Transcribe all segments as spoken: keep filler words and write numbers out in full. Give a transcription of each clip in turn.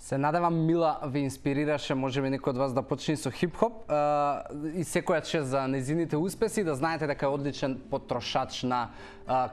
Се надевам Мила ви инспирираше, можеби некој од вас да почне со хип-хоп и секоја чест за незините успеси, да знаете дека е одличен потрошач на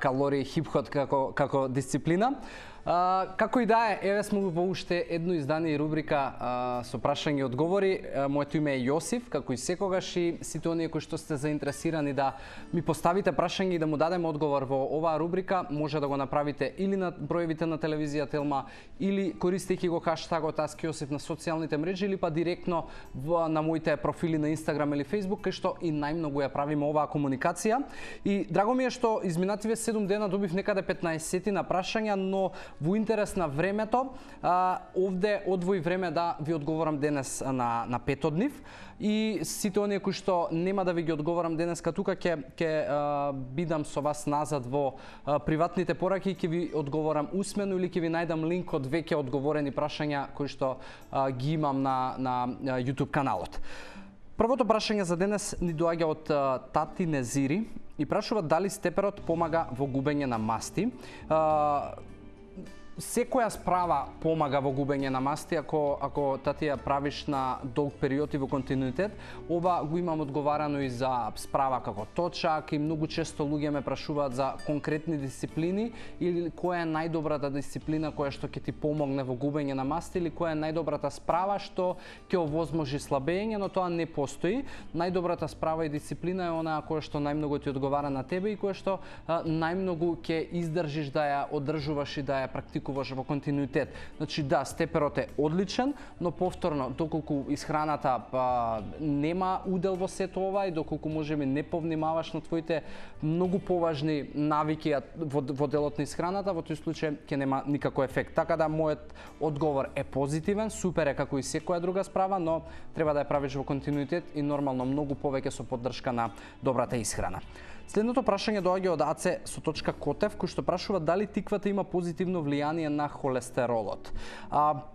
калории хип-хоп како како дисциплина. Uh, како и да е, еве сме во уште едно издание и рубрика uh, со прашања и одговори. Uh, моето име е Јосиф, како и секогаш, и сите оние кои што сте заинтересирани да ми поставите прашање и да му дадеме одговор во оваа рубрика, може да го направите или на броевите на телевизија Телма, или користејќи го хаштагот AskJosif на социјалните мрежи, или па директно в, на моите профили на Инстаграм или Фејсбук, кај што и најмногу ја правиме оваа комуникација. И драго ми е што изминативе седум дена добив некаде петнаесет на прашања, но во интерес на времето, а, овде одвои време да ви одговорам денес на, на пет од нив. И сите оние кои што нема да ви ги одговорам денеска тука, ќе ќе бидам со вас назад во а, приватните пораки и ќе ви одговорам усмено или ќе ви најдам линк од веќе одговорени прашања кои што а, ги имам на, на, на YouTube каналот. Првото прашање за денес ни доаѓа од а, Тати Незири и прашува дали степерот помага во губење на масти. А, Секоја справа помага во губење на масти ако ако тати ја правиш на долг период и во континуитет. Ова го имам одговарано и за справа како точак и многу често луѓе ме прашуваат за конкретни дисциплини или која е најдобрата дисциплина која што ќе ти помогне во губење на масти или која е најдобрата справа што ќе овозможи слабење, но тоа не постои. Најдобрата справа и дисциплина е онаа која што најмногу ти одговара на тебе и која што а, најмногу ќе издржиш да ја одржуваш и да ја практикуваш во континуитет. Значи да, степерот е одличен, но повторно доколку исхраната па, нема удел во сето ова и доколку можеби не повнимаваш на твоите многу поважни навики во, во делот на исхраната, во тој случај ќе нема никако ефект. Така да мојот одговор е позитивен, супер е како и секоја друга справа, но треба да ја правиш во континуитет и нормално многу повеќе со поддршка на добрата исхрана. Следното прашање доаѓа од Аце со точка Котев, кој што прашува дали тиквата има позитивно влијание на холестеролот. А,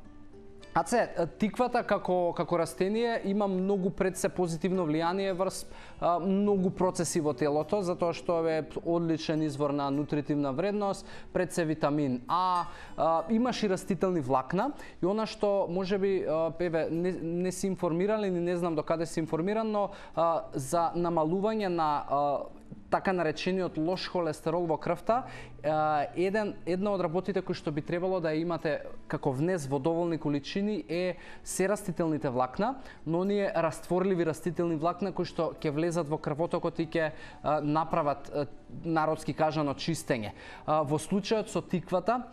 Аце, тиквата како како растение има многу пред се позитивно влијание врз а, многу процеси во телото, затоа што е одличен извор на нутритивна вредност, пред се витамин А, а имаш и растителни влакна и она што можеби еве не, не си информиран или не знам докаде си информиран, но а, за намалување на а, така наречениот лош холестерол во крвта, еден една од работите кои што би требало да имате како внес во доволни количини е се растителните влакна, но оние растворливи растителни влакна кои што ќе влезат во крвотокот и ќе направат народски кажано чистење. Во случајот со тиквата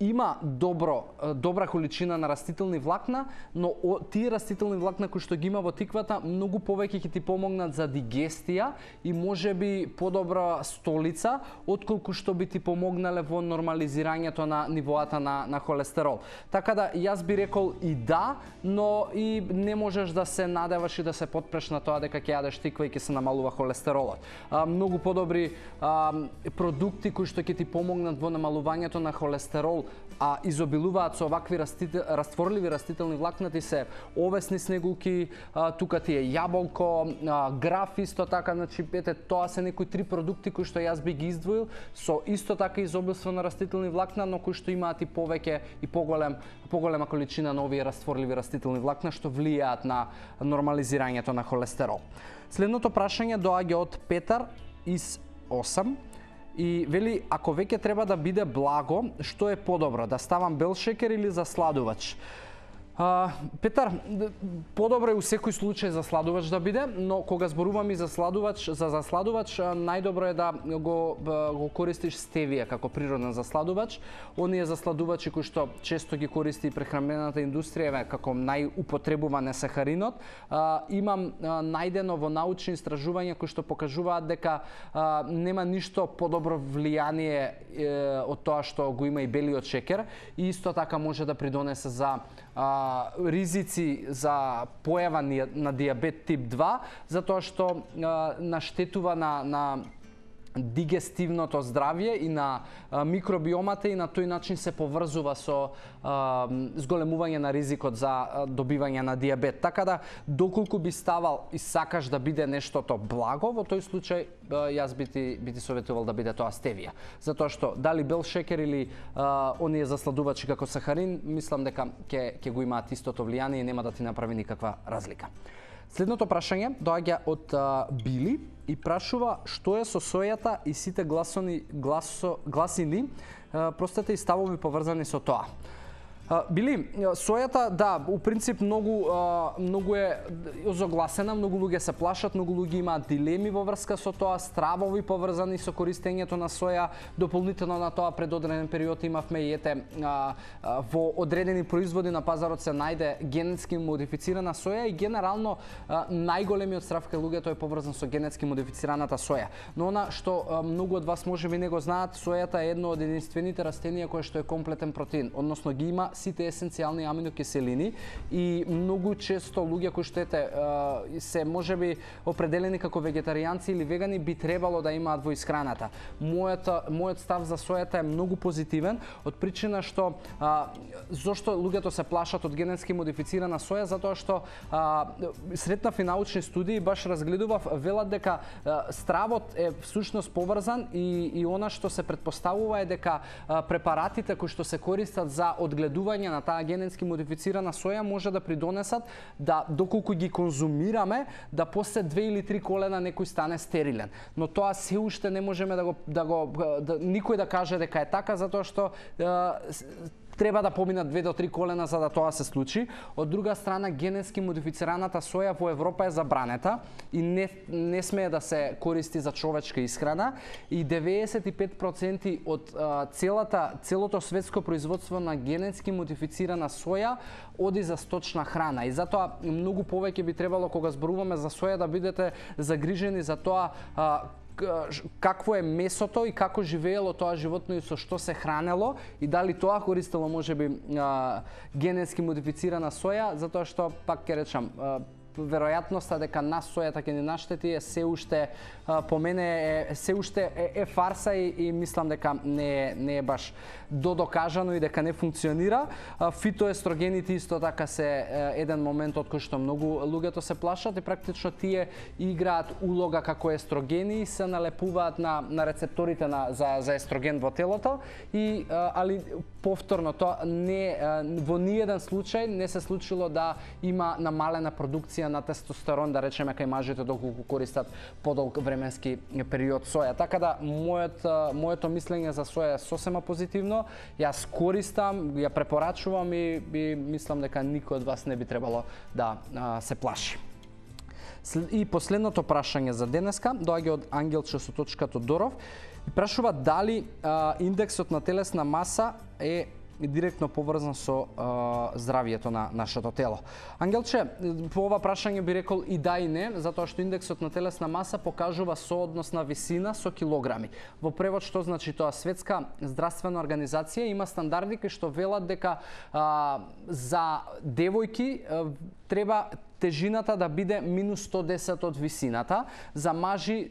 има добро добра количина на растителни влакна, но тие растителни влакна кои што ги има во тиквата многу повеќе ќе ти помогнат за дигестија и можеби подобра столица отколку што би ти помогнале во нормализирањето на нивоата на на холестерол. Така да јас би рекол и да, но и не можеш да се надеваш и да се потпреш на тоа дека ќе јадеш тиква и ќе се намалува холестеролот. А, многу подобри а, продукти кои што ќе ти помогнат во намалувањето на холестерол, а изобилуваат со овакви растител, растворливи растителни влакна, ти се овесни снегулки, а, тука ти е јаболко, а, граф исто така, значи ете тоа се некои три продукти кои што јас би ги издвоил со исто така изобилство на растителни влакна, но кои што имаат и повеќе и поголем поголема количина на овие растворливи растителни влакна што влијаат на нормализирањето на холестерол. Следното прашање доаѓа од Петар из осам. И вели, ако веќе треба да биде благо, што е подобро, да ставам бел шекер или засладувач? А, Петар, подобро е у секој случај засладувач да биде, но кога зборуваме за засладувач, за засладувач најдобро е да го го користиш стевија како природен засладувач. Оние засладувачи кои што често ги користи прехранбената индустрија како најупотребуван е сахаринот. А, имам а, најдено во научни истражувања кои што покажуваат дека а, нема ништо подобро влијание е, од тоа што го има и белиот шекер и исто така може да придонесе за а, ризици за појава на дијабет тип два, затоа што а, наштетува на, на дигестивното здравје и на а, микробиомата и на тој начин се поврзува со а, зголемување на ризикот за а, добивање на дијабет. Така да, доколку би ставал и сакаш да биде нештото благо, во тој случај а, јас би ти, би ти советувал да биде тоа стевија. Затоа што дали бел шекер или а, оние засладувачи како сахарин, мислам дека ќе ќе го имаат истото влијание и нема да ти направи никаква разлика. Следното прашање доаѓа од а, Били и прашува што е со сојата и сите гласони, гласо, гласини, а, простете и ставови поврзани со тоа. А, Били, сојата, да, у принцип многу, а, многу е озогласена, многу луѓе се плашат, многу луѓе имаат дилеми во врска со тоа, стравови поврзани со користењето на соја. Дополнително на тоа пред одреден период имавме и ете а, а, во одредени производи на пазарот се најде генетски модифицирана соја и генерално а, најголемиот страв кај луѓето е поврзан со генетски модифицираната соја. Но она што а, многу од вас можеби не го знаат, сојата е едно од единствените растенија кое што е комплетен протеин, односно ги има сите есенцијални аминокиселини и многу често луѓе кои што ете се можеби определени како вегетаријанци или вегани би требало да имаат во исхраната. Мојот мојот став за сојата е многу позитивен од причина што а, зошто луѓето се плашат од генетски модифицирана соја, затоа што а, сретнав и научни студии, баш разгледував, велат дека а, стравот е всушност поврзан и и она што се претпоставува е дека а, препаратите кои што се користат за одгледување на таа генетски модифицирана соја може да придонесат да доколку ги конзумираме да после две или три колена некој стане стерилен. Но тоа се уште не можеме да го да го да, никој да каже дека е така, затоа што е, треба да поминат две до три колена за да тоа се случи. Од друга страна, генетски модифицираната соја во Европа е забранета и не, не смее да се користи за човечка исхрана и деветдесет и пет проценти од а, целата целото светско производство на генетски модифицирана соја оди за сточна храна. И затоа многу повеќе би требало кога зборуваме за соја да бидете загрижени за тоа а, какво е месото и како живеело тоа животно и со што се хранело и дали тоа користело можеби а, генетски модифицирана соја, затоа што пак ќе речам а, веројатноста дека нас сојата ќе ни наштети е се уште а, по мене е се уште е, е фарса и, и мислам дека не е не е баш додокажано и дека не функционира. А, фитоестрогените исто така се е, еден момент од кој што многу луѓето се плашат и практично тие играат улога како естрогени и се налепуваат на на рецепторите на за за естроген во телото и а, али повторно тоа не а, во ниеден случај не се случило да има намалена продукција на тестостерон, да речеме, кај мажите доколку користат подолг временски период соја. Така да мојот моето мислење за соја е сосема позитивно. Јас користам, ја препорачувам и, и мислам дека никој од вас не би требало да а, се плаши. И последното прашање за денеска доаѓа од Ангелче со точка Тодоров и прашува дали а, индексот на телесна маса е директно поврзан со а, здравието на нашето тело. Ангелче, по ова прашање би рекол и да и не, затоа што индексот на телесна маса покажува сооднос на висина со килограми. Во превод што значи тоа? Светска здравствена организација има стандарди кои што велат дека а, за девојки а, треба тежината да биде минус сто десет од висината, за мажи е,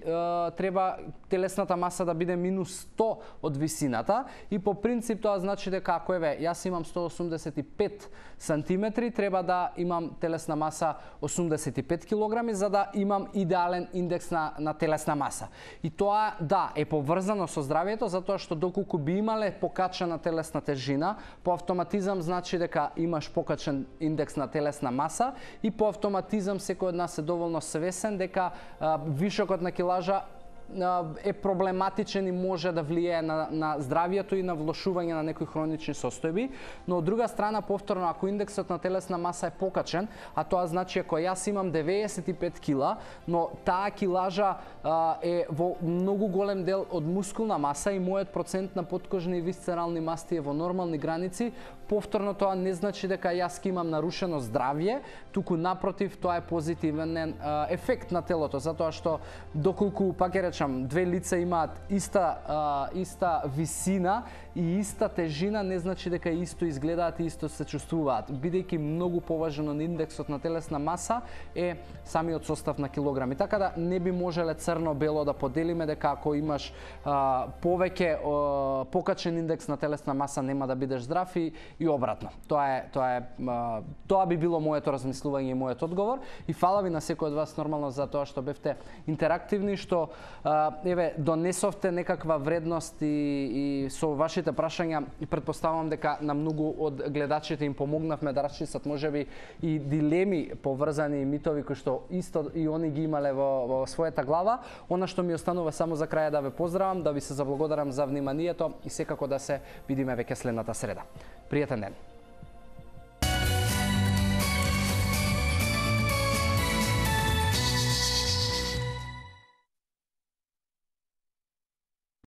треба телесната маса да биде минус сто од висината и по принцип тоа значи дека ако еве јас имам сто осумдесет и пет сантиметри, треба да имам телесна маса осумдесет и пет килограми за да имам идеален индекс на, на телесна маса. И тоа да е поврзано со здравието затоа што доколку би имале покачена телесна тежина, по автоматизам значи дека имаш покачен индекс на телесна маса и по автоматизам секој од нас е доволно свесен дека а, вишокот на килажа е проблематичен и може да влијае на, на здравието и на влошување на некои хронични состојби, но од друга страна повторно ако индексот на телесна маса е покачен, а тоа значи ако јас имам деветдесет и пет кила, но таа килажа а, е во многу голем дел од мускулна маса и мојот процент на подкожни и висцерални масти е во нормални граници, повторно тоа не значи дека јас ќе имам нарушено здравје, туку напротив тоа е позитивен а, ефект на телото, затоа што доколку пак ќе речам кажам, две лица имаат иста а, иста висина и иста тежина, не значи дека исто изгледаат и исто се чувствуваат. Бидејќи многу поважен од индексот на телесна маса е самиот состав на килограми. Така да не би можеле црно-бело да поделиме дека ако имаш а, повеќе а, покачен индекс на телесна маса нема да бидеш здрав и, и обратно. Тоа е тоа е а, тоа би било моето размислување и мојот одговор. И фала ви на секој од вас нормално за тоа што бевте интерактивни, што а, еве донесовте некаква вредност и, и со вашите прашања и претпоставувам дека на многу од гледачите им помогнавме да расчистат можеби и дилеми поврзани и митови кои што исто и они ги имале во, во својата глава. Она што ми останува само за крај да ве поздравам, да ви се заблагодарам за вниманието и секако да се видиме веќе следната среда. Пријатен ден.